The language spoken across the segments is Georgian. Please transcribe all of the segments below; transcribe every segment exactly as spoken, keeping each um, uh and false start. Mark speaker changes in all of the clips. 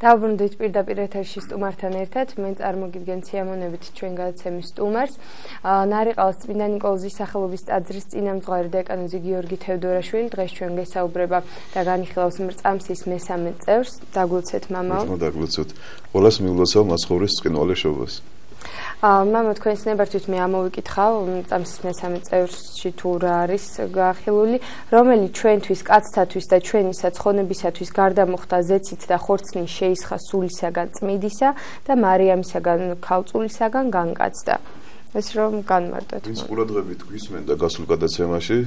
Speaker 1: დავბრუნდით პირდაპირ ეთერში სტუმართან ერთად. მე წარმოგიდგენ სიამოვნებით ჩვენ გადაცემის სტუმარს. ნარიყაოს წმინდა ნიკოლოზის სახელობის ტაძრის წინამძღვარი დეკანოზი გიორგი თევდორაშვილი დღეს ჩვენ გესაუბრება და განიხილავს მრწამსის მესამე წევრს. დაგულცეთ მამაო.
Speaker 2: დაგულცეთ. ყველას მიულოცავ მაცხოვრის წკინვალე შობას.
Speaker 1: მამა თქვენს ნებართვით მე ამოვიკითხავ მრწამსის მესამე წევრში თუ რა არის გახილული, რომელიც ჩვენთვის, კაცთათვის და ჩვენი საცხონებისათვის გარდამოხდა ზეცით და ხორცნით შეისხა სულისაგან წმიდისა და მარიამისაგან ქალწულისაგან განკაცდა. ეს რომ განმარტოთ.
Speaker 2: ვინც ყურადღებით გვისმენ და გასულ გადაცემაში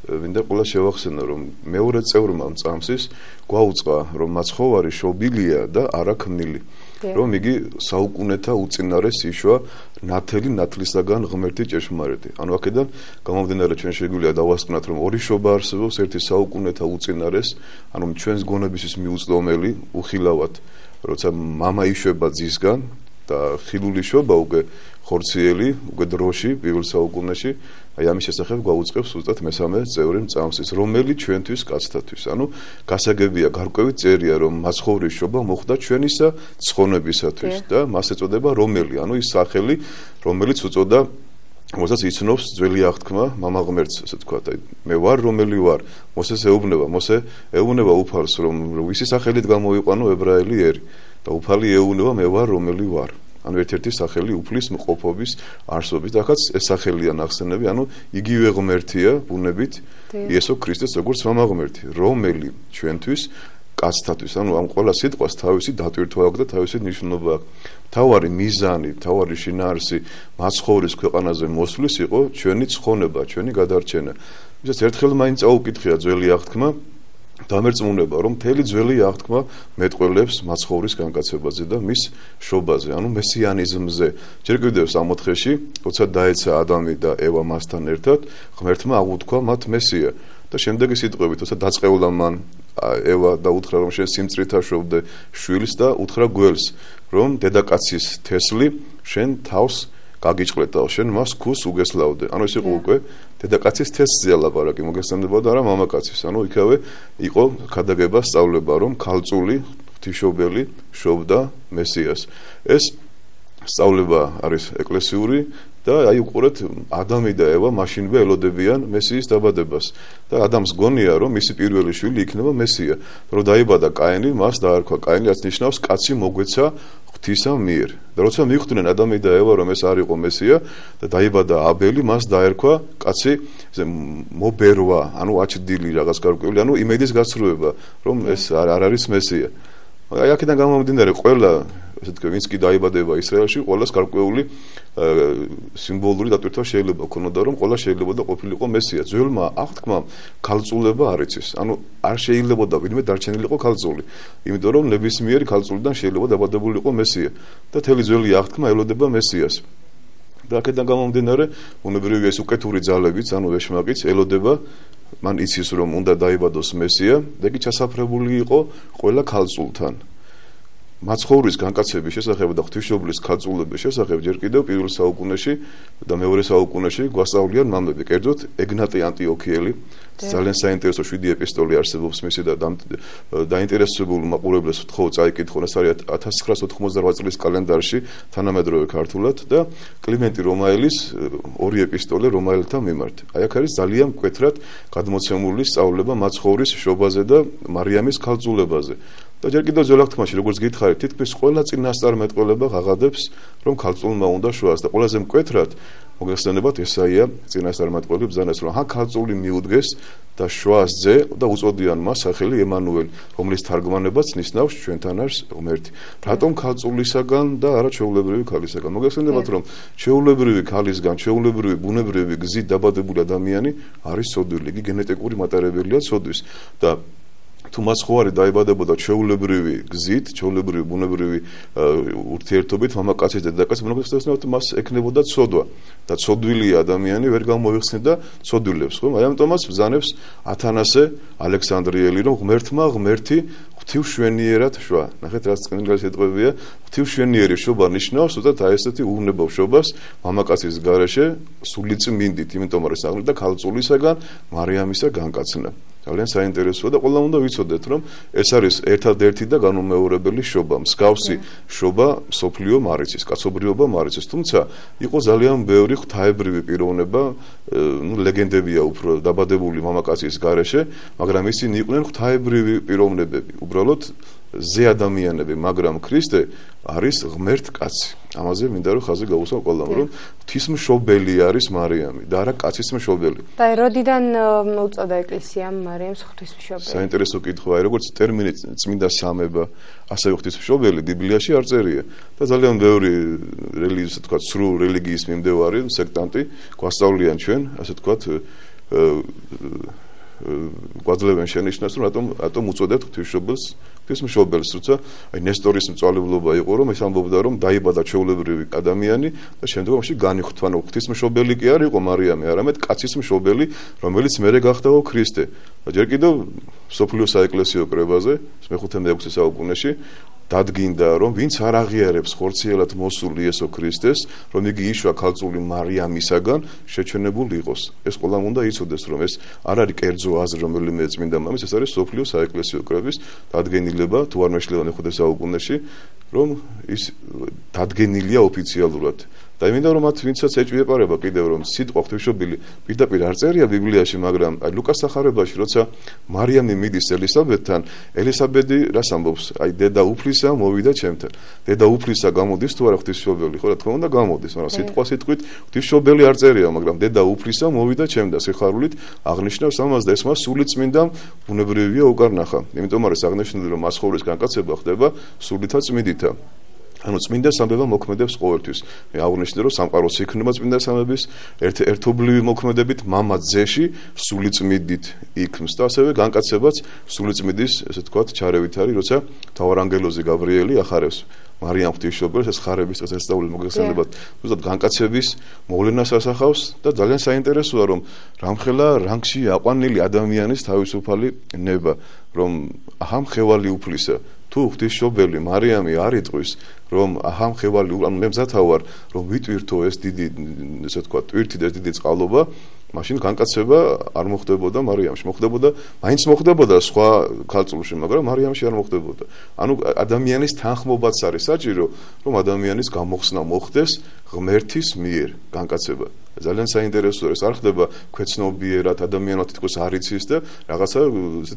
Speaker 2: მინდა ყველა შევახსენო, რომ მეორე წევრმა მრწამსის გვაუწყა, რომ მაცხოვარი შობილია და არა ქმნილი. რომ იგი საუკუნეთა უწინარეს იშვა ნათელი ნათლისაგან ღმერთი ჭეშმარიტი. ანუ აქედან გამომდინარე ჩვენ შეგვიძლია დავასკვნათ, რომ ორი შობა არსებობს, ერთი საუკუნეთა უწინარეს, ანუ ჩვენს გონებისთვის მიუწვდომელი, უხილავად, როცა მამა იშვება ძისგან და ხილული შობა უკვე ხორციელი, უკვე დროში, პირველ საუკუნეში, აი ამის შესახებ გვაუწყებს ზუსტად მესამე წევრი მრწამსის, რომელიც ჩვენთვის კაცთათვის. ანუ გასაგებია, გარკვევით წერია, რომ მაცხოვრის შობა მოხდა ჩვენისა ცხონებისათვის და მას ეწოდება რომელი, ანუ ის სახელი, რომელიც უწოდა, რომელსაც იცნობს ძველი აღთქმა მამა ღმერთს, ასე ვთქვათ, აი მე ვარ რომელი ვარ, მოსეს ეუბნება, მოსე ეუბნება უფალს, რომ ვისი სახელით გამოიყვანო ებრაელი ერი და უფალი ეუბნება მე ვარ რომელი ვარ. ანუ ერთ-ერთი სახელი უფლის მყოფობის არსობით, ახაც ეს სახელია ნახსენები, ანუ იგივე ღმერთია ბუნებით იესო ქრისტეს როგორც მამა ღმერთი, რომელი ჩვენთვის კაცთათვის, ანუ ამ ყველა სიტყვას თავისი დატვირთვა აქვს და თავისი ნიშნობა აქვს. თავარი მიზანი, თავარი შინაარსი მაცხოვრის ქვეყანაზე მოსვლის იყო ჩვენი ცხონება, ჩვენი გადარჩენა. ვისაც ერთხელ მაინც აუკითხია ძველი აღთქმა, დამერწმუნება, რომ მთელი ძველი აღთქმა მეტყველებს მაცხოვრის განკაცებაზე და მის შობაზე, ანუ მესიანიზმზე. ჯერ კიდევ სამოთხეში, როცა დაეცა ადამი და ევა მასთან ერთად, ღმერთმა აღუთქვა მათ მესია და შემდეგი სიტყვებით, როცა დაწყეულა მან ევა და უთხრა, რომ შენ სიმწრით აშობდე შვილს და უთხრა გველს, რომ დედაკაცის თესლი შენ თავს გაგიჭყლეთ და შენ მას ქუს უგესლავდე. ანუ ეს იყო უკვე დედაკაცის თესლზე ლაპარაკი, მოგესწრებოდა რა მამაკაცის. ანუ იქავე იყო ქადაგება, სწავლება, რომ ქალწული, ღვთისმშობელი შობდა მესიას. ეს სწავლება არის ეკლესიური და აი უყურეთ, ადამი და ევა მაშინვე ელოდებიან მესიის დაბადებას. და ადამს გონია, რომ მისი პირველი შვილი იქნება მესია. რომ დაიბადა კაინი, მას დაარქვა კაინი, რაც ნიშნავს კაცი მოგვეცა ღვთისა მიერ. და როცა მიხვდნენ ადამი და ევა, რომ ეს არ იყო მესია და დაიბადა აბელი, მას დაერქვა კაცი მობერვა, ანუ აჩდილი რაღაც გარკვეული, ანუ იმედის გასრულება, რომ ეს არ არის მესია. აი აქედან გამომდინარე, ყველა ესე თქვა, ვინც კი დაიბადება ისრაელში, ყველას გარკვეული სიმბოლური დატვირთვა შეიძლება ქონოდა, რომ ყველა შეიძლება და ყოფილიყო მესია. ძველმა აღთქმამ ქალწულება არ იცის. ანუ არ შეიძლებოდა ვინმე დარჩენილიყო ქალწული. იმიტომ რომ ნებისმიერი ქალწულიდან შეიძლება დაბადებულიყო მესია. და თელი ძველი აღთქმა ელოდება მესიას. და აქედან გამომდინარე, უნებრივი ეს უკეთური ძალებიც, ანუ ვეშმაკიც ელოდება, მან იცის რომ უნდა დაიბადოს მესია და იგი ჩასაფრებული იყო ყველა ქალწულთან. მაცხოვრის განკაცების შესახებ და ღვთისმშობლის ქალწულების შესახებ ჯერ კიდევ პირველ საუკუნეში და მეორე საუკუნეში გვასწავლიან მამები, კერძოდ ეგნატე ანტიოქიელი, ძალიან საინტერესო შვიდი ეპისტოლე არსებობს მისი და დაინტერესებულ მაყურებლებს ვთხოვ წაიკითხონ, ეს არის ათას ცხრაასი ოთხმოცდაოთხ წლის კალენდარში თანამედროვე ქართულად და კლიმენტი რომაელის ორი ეპისტოლე რომაელთა მიმართ. აი აქ არის ძალიან მკვეთრად გადმოცემული სწავლება მაცხოვრის შობაზე და მარიამის ქალწულებაზე. და ჯერ კიდევ ძველ აღთქმაში, როგორც გითხარით, თითქმის ყველა წინასწარმეტყველება ღაღადებს, რომ ქალწულმა უნდა შოას და ყველაზე მკვეთრად მოგეხსენებათ ესაია წინასწარმეტყველი ბრძანეს, რომ ჰა ქალწული მიუდგეს და შოას ძე და უწოდიან მას სახელი ემანუელი, რომლის თარგმანებაც ნიშნავს ჩვენთან არის ღმერთი. რატომ ქალწულისაგან და არა ჩვეულებრივი ქალისაგან? მოგეხსენებათ, რომ ჩვეულებრივი ქალისგან, ჩვეულებრივი ბუნებრივი გზით დაბადებული ადამიანი არის სოდვილი, იგი გენეტიკური მატარებელია სოდვის და თუ მაცხოვარი დაიბადებოდა ჩვეულებრივი გზით, ჩვეულებრივი ბუნებრივი ურთიერთობით მამაკაცის და დედაკაცის, მოგეხსენებათ, მას ექნებოდა ცოდვა და ცოდვილი ადამიანი ვერ გამოიხსნიდა ცოდვილებს, ხო? აი ამიტომაც ბრძანებს ათანასე ალექსანდრიელი, რომ ღმერთმა ღმერთი ღვთივშვენიერად შვა. ნახეთ, რაც წმინდა სიტყვებია, ღვთივშვენიერი შობა ნიშნავს, უბრალოდ აი ესეთი უვნებო შობას მამაკაცის გარეშე სული წმინდით, იმიტომ რომ ეს აღნიშნავდა ქალწულისაგან მარიამისა განკაცნა. ძალიან საინტერესოა და ყველა უნდა ვიცოდეთ, რომ ეს არის ერთადერთი და განუმეორებელი შობა, მსგავსი შობა სოფლიო მარიცის, კაცობრიობა მარიცის, თუმცა იყო ძალიან ბევრი ღვთაებრივი პიროვნება, ნუ ლეგენდებია უფრო დაბადებული მამაკაცის გარეშე, მაგრამ ისინი იყვნენ ღვთაებრივი პიროვნებები, უბრალოდ ზე ადამიანები, მაგრამ ქრისტე არის ღმერთ კაცი. ამაზე მინდა რომ ხაზი გაუსვა ყველამ, რომ ღვთისმშობელი არის მარიამი და არა კაცის მშობელი.
Speaker 1: და როდიდან უწოდა ეკლესიამ მარიამს ღვთისმშობელი?
Speaker 2: საინტერესო კითხვაა, როგორც ტერმინი წმინდა სამება, ასევე ღვთისმშობელი ბიბლიაში არ წერია და ძალიან ბევრი რელიგიის, ასე თქვა, სრულ რელიგიის მიმდევარი სექტანტი გვასწავლიან ჩვენ, ასე თქვა, გვაძლევენ შენიშნას, რომ რატომ რატომ უწოდებთ ღვთისმშობელს ღვთისმშობელს, როცა აი ნესტორის მწვალებლობა იყო, რომ ეს ამბობდა, რომ დაიბადა ჩვეულებრივი ადამიანი და შემდგომში განიხვდა, რომ ღვთისმშობელი კი არ იყო მარიამი, არამედ კაცის მშობელი, რომელიც მერე გახდაო ქრისტე. და ჯერ კიდევ სოფლიო საეკლესიო კრებაზე, მეხუთე მეექვსე საუკუნეში დადგინდა, რომ ვინც არ აღიარებს ხორციელად მოსულ იესო ქრისტეს, რომ იგი იშვა ქალწული მარიამისაგან, შეჩვენებულ იყოს. ეს ყველამ უნდა იცოდეს, რომ ეს არ არის კერძო აზრი რომელიმე წმინდა მამის, ეს არის სოფლიო საეკლესიო კრების დადგენილება, თუ არ მეშლება მეხუთე საუკუნეში, რომ ის დადგენილია ოფიციალურად. და მინდა რომ მათ ვინცაც ეჭვი ეპარება კიდევ რომ სიტყვა ღვთისმშობელი პირდაპირ არ წერია ბიბლიაში, მაგრამ აი ლუკას სახარებაში, როცა მარიამი მიდის ელისაბედთან, ელისაბედი რას ამბობს? აი დედა უფლისა მოვიდა ჩემთან. დედა უფლისა გამოდის თუ არა ღვთისმშობელი? ხო, რა თქმა უნდა გამოდის, მაგრამ სიტყვა სიტყვით ღვთისმშობელი არ წერია, მაგრამ დედა უფლისა მოვიდა ჩემთან. სიხარულით აღნიშნავს ამას და ეს მას სული წმინდა ბუნებრივია უკარ ნახა. იმიტომ არის აღნიშნული, რომ მასხოვრის განკაცება ხდება სულითა წმინდითა. ანუ წმინდა სამება მოქმედებს ყოველთვის. მე აღვნიშნე, რომ სამყაროს იქმნება წმინდა სამების ერთ-ერთობლივი მოქმედებით მამა ძეში სული წმინდით იქმს და ასევე განკაცებაც სული წმინდის, ესე ვთქვათ, ჩარევით არის, როცა მთავარანგელოზი გაბრიელი ახარებს მარიამ ღვთისმშობელს, ეს ხარების წესს ესწავლის მოგეხსენებათ, ზუსტად განკაცების მოვლენას ასახავს და ძალიან საინტერესოა, რომ რამხელა რანგში აყვანილი ადამიანის თავისუფალი ნება, რომ აჰა მხევალი უფლისა თუ ღვთისმშობელი მარიამი არ იტყვის, რომ აჰა მხევალი, ანუ მე მზათა ვარ, რომ ვიტვირთო ეს დიდი, ესე ვთქვათ, ტვირთი და ეს დიდი წყალობა, მაშინ განკაცება არ მოხდებოდა მარიამში, მოხდებოდა, მაინც მოხდებოდა სხვა ქალწულში, მაგრამ მარიამში არ მოხდებოდა. ანუ ადამიანის თანხმობაც არის საჭირო, რომ ადამიანის გამოხსნა მოხდეს ღმერთის მიერ განკაცება. ძალიან საინტერესოა, ეს არ ხდება ქვეცნობიერად, ადამიანად თითქოს არ იცის და რაღაცა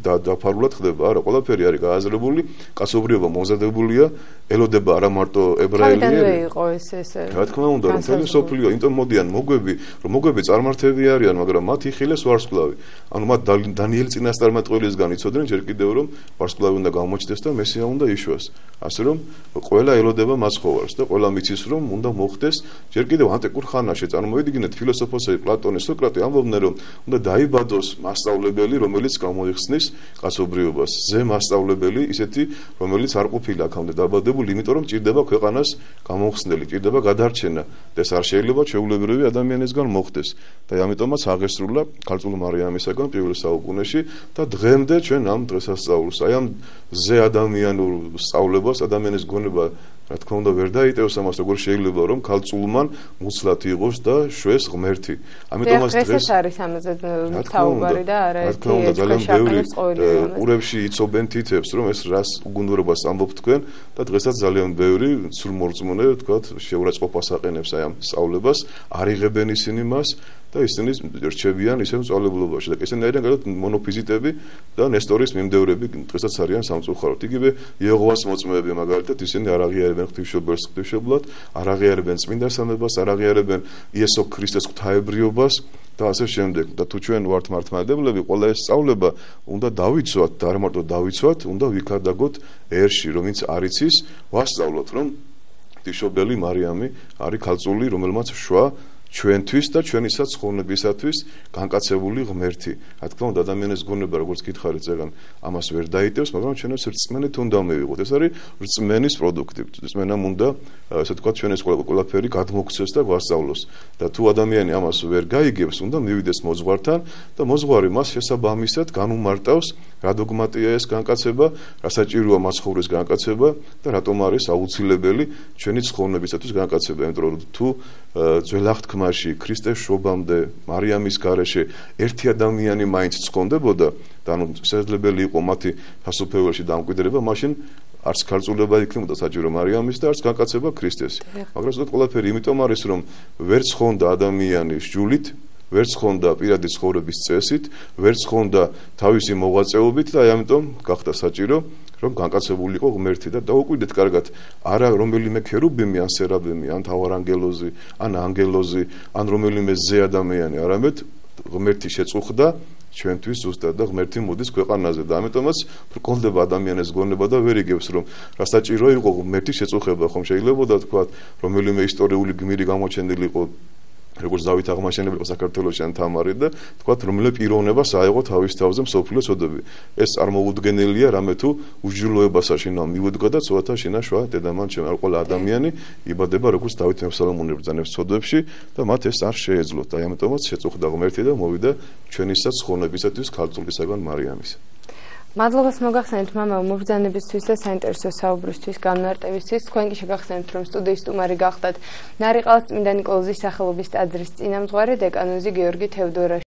Speaker 2: დაფარულად ხდება. არა, ყველაფერი არის გააზრებული, კაცობრიობა მომზადებულია, ელოდება არა მარტო ებრაელები.
Speaker 1: თავიდანვე იყო ეს ეს.
Speaker 2: რა თქმა უნდა, რომ მთელი სოფლიო, იმიტომ მოდიან მოგვები, რომ მოგვები წარმართები არიან, მაგრამ მათ იხილეს ვარსკვლავი. ანუ მათ დანიელი წინასწარმეტყველისგან იცოდნენ ჯერ კიდევ, რომ ვარსკვლავი უნდა გამოჩნდეს და მესია უნდა იშვას. ასე რომ ყველა ელოდება მაცხოვარს და ყველა მიცის, რომ უნდა მოხდეს ჯერ კიდევ ანტიკურ ხანაში. წარმოვიდგინეთ, ფილოსოფოსები პლატონი, სოკრატე ამბობდნენ, რომ უნდა დაიბადოს მასწავლებელი, რომელიც გამოიხსნის კაცობრიობას. ზე მასწავლებელი, ისეთი, რომელიც არ ყოფილა აქამდე დაბადებული, იმიტომ რომ ჭირდება ქვეყანას გამოხსნელი, ჭირდება გადარჩენა და ეს არ შეიძლება ჩვეულებრივი ადამიანისგან მოხდეს. და ამიტომაც აღესრულა ქალწულ მარიამისაგან პირველ საუკუნეში და დღემდე ჩვენ ამ დღესასწაულს, აი ამ ზე ადამიანურ სწავლებას, ადამიანის გონება, რა თქმა უნდა, ვერ დაიტევს ამას, როგორ შეიძლება რომ ქალწულმან მუცლად იყოს და შვეს ღმერთი. ამიტომაც დღეს
Speaker 1: არის ამაზე საუბარი და არა
Speaker 2: ერთი ძალიან ბევრი ყურებში იცობენ თითებს, რომ ეს რას უგუნურობას ამბობ თქვენ და დღესაც ძალიან ბევრი სრულმორწმუნე, თქვათ, შეურაცხყოფას აყენებს აი ამ სწავლებას, არ იღებენ ისინი მას და ისინი რჩებიან ისევ სწავლებულობაში და ისინი არიან გადად მონოფიზიტები და ნესტორის მიმდევრები დღესაც არიან სამწუხაროდ. იგივე იეჰოვას მოწმეები მაგალითად ისინი არ აღიარებენ ღვთისმშობელს ღვთისმშობლად, არ აღიარებენ წმინდა სამებას, არ აღიარებენ იესო ქრისტეს ღვთაებრიობას და ასე შემდეგ. და თუ ჩვენ ვართ მართლმადიდებლები, ყველა ეს სწავლება უნდა დავიცვათ და არ მარტო დავიცვათ, უნდა ვიქადაგოთ ერში, რომ ვინც არ იცის, ვასწავლოთ, რომ ღვთისმშობელი მარიამი არის ქალწული, რომელმაც შვა ჩვენთვის და ჩვენისაც ხოვნებისათვის განკაცებული ღმერთი. რა თქმა უნდა, ადამიანის გონება, როგორც გითხარით ზეგან, ამას ვერ დაიტევს, მაგრამ ჩვენებს რწმენით უნდა მივიღოთ. ეს არის რწმენის პროდუქტი. რწმენამ უნდა, ასე ვთქვათ, ჩვენს ყველაფერი გადმოგვცეს და გვასწავლოს. და თუ ადამიანი ამას ვერ გაიგებს, უნდა მივიდეს მოძღვართან და მოძღვარი მას შესაბამისად განუმარტავს რა დოგმატია ეს განკაცება, რა საჭიროა მაცხოვრის განკაცება და რატომ არის აუცილებელი ჩვენი ცხოვნებისათვის განკაცება, იმიტომ რომ თუ ძველ აღთქმაში ქრისტეს შობამდე მარიამის გარეშე ერთი ადამიანი მაინც ცხონდებოდა და ანუ შესაძლებელი იყო მათი ფასოფეველში დამკვიდრება, მაშინ არც ქალწულება იქნებოდა საჭირო მარიამის და არც განკაცება ქრისტეს. მაგრამ ზოგადად ყველაფერი იმიტომ არის, რომ ვერ ცხონდა ადამიანი სჯულით, ვერ ცხონდა პირადი ცხოვრების წესით, ვერ ცხონდა თავისი მოღვაწეობით და აი ამიტომ გახდა საჭირო, რომ განკაცებულიყო ღმერთი და დაუკვირდეთ კარგად, არა რომელიმე ქერუბიმი ან სერაბიმი, ან თავარანგელოზი, ან ანგელოზი, ან რომელიმე ზე ადამიანი, არამედ ღმერთი შეწუხდა ჩვენთვის ზუსტად და ღმერთი მოდის ქვეყანაზე და ამიტომაც ბრკოლდება ადამიანის გონება და ვერ იგებს რომ რა საჭირო იყო ღმერთი შეწუხება ხომ შეიძლება თქვა რომელიმე ისტორიული გმირი გამოჩენილიყო როგორც დავით აღმაშენებელი იყო საქართველოში ან თამარი და თქვა რომელიმე პიროვნებას აეღო თავის თავზე მსოფლიო წოდები ეს წარმოუდგენელია რამე თუ უსჯულოებასა შინა მივუდგა და ცოტა შინა შვა დედამან ჩემ ყველა ადამიანი იბადება როგორც დავით მეფსალმონი ბრძანებს წოდებში და მათ ეს არ შეეძლოთ აი ამიტომაც შეწუხდა ღმერთი და მოვიდა ჩვენისაც ცხონებისათვის ქალწულისაგან მარიამის
Speaker 1: მადლობას მოგახსენებთ მამა მობრძანებისთვის და საინტერესო საუბრისთვის განმარტებისთვის. თქვენ კი შეგახსენებთ რომ სტუდიის სტუმარი გახდათ ნარიყალს წმინდა ნიკოლოზის სახელობის ტაძრის წინამძღვარი დეკანოზი გიორგი თევდორაშვილი.